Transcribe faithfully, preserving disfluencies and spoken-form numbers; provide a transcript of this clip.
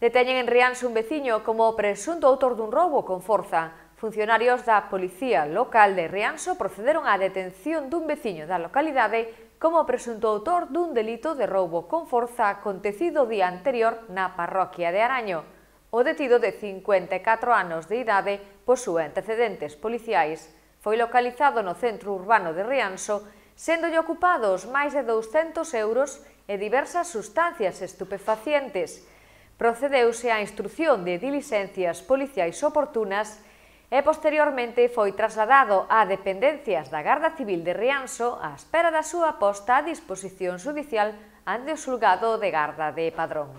Deteñen en Rianxo un veciño como presunto autor dun roubo con forza. Funcionarios da Policía Local de Rianxo procederon á detención dun veciño da localidade como presunto autor dun delito de roubo con forza acontecido o día anterior na parroquia de Araño. O detido de cincuenta e catro anos de idade posúe antecedentes policiais. Foi localizado no centro urbano de Rianxo, séndolle ocupados máis de douscentos euros e diversas sustancias estupefacientes. Procedeuse á instrución de diligencias policiais oportunas e posteriormente foi trasladado a dependencias da Garda Civil de Rianxo á espera da súa posta a disposición xudicial ante o xulgado de Garda de Padrón.